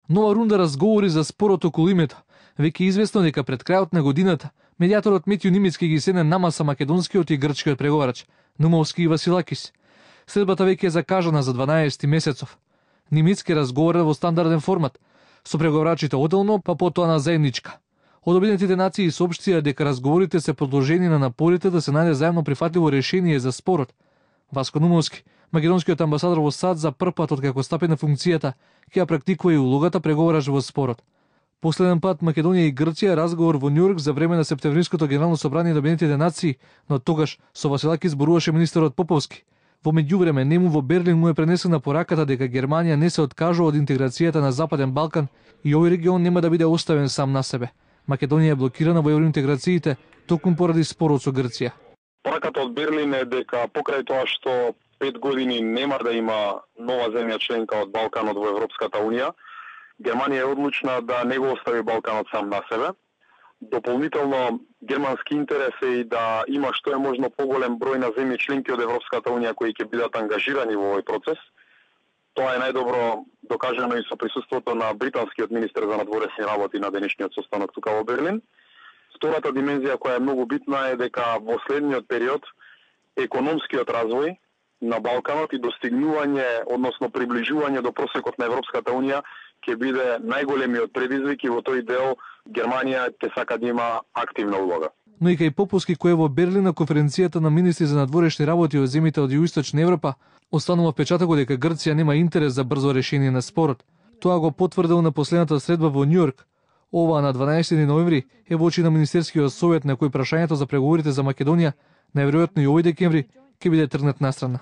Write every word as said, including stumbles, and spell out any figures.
Нова рунда разговори за спорот околу името. Веќе е известно дека пред крајот на годината медијаторот Метју Нимицки ги седне намаса македонскиот и грчкиот преговарач Нумовски и Василакис. Следбата веќе е закажана за дванаесети месецов. Нимицки разговара во стандарден формат, со преговарачите оделно, па потоа на заедничка. Од Обединетите нации соопштија дека разговорите се продолжени на напорите да се најде заедно прифатливо решение за спорот. Васко Нумовски, македонскиот амбасадор во САД, за прв пат откако стапи на функцијата, ќе ја практикува и улогата преговараш во спорот. Последен пат Македонија и Грција разговор во Њујорк за време на септемвриското генерално собрание на Обединетите нации, но тогаш со Василаки зборуваше министерот Поповски. Во меѓувреме нему во Берлин му е пренесена пораката дека Германија не се откажува од интеграцијата на Западен Балкан и овој регион нема да биде оставен сам на себе. Македонија е блокирана во евроинтеграциите токму поради спорот со Грција. Пораката од Берлин е дека покрај тоа што пет години нема да има нова земја членка од Балканот во Европската унија, Германија е одлучна да не го остави Балканот сам на себе. Дополнително, германски интерес е и да има што е можно поголем број на земји членки од Европската унија кои ќе бидат ангажирани во овој процес. Тоа е најдобро докажано и со присуството на британскиот министер за надворешни работи на денешниот состанок тука во Берлин. Втората димензија која е многу битна е дека во следниот период економскиот развој на Балканот и достигнување, односно приближување до просекот на Европската унија ќе биде најголемиот предизвик и во тој дел Германија ќе сака да има активна улога. Но и кај Поповски, кој е во Берлин на конференцијата на министри за надворешни работи од земјите од Југоисточна Европа, останува впечатокот дека Грција нема интерес за брзо решение на спорот. Тоа го потврдил на последната средба во Њујорк. Ова на дванаесети ноември е во очи на Министерскиот совет на кој прашањето за преговорите за Македонија најверојатно и овој декември ќе биде тргнат настрана.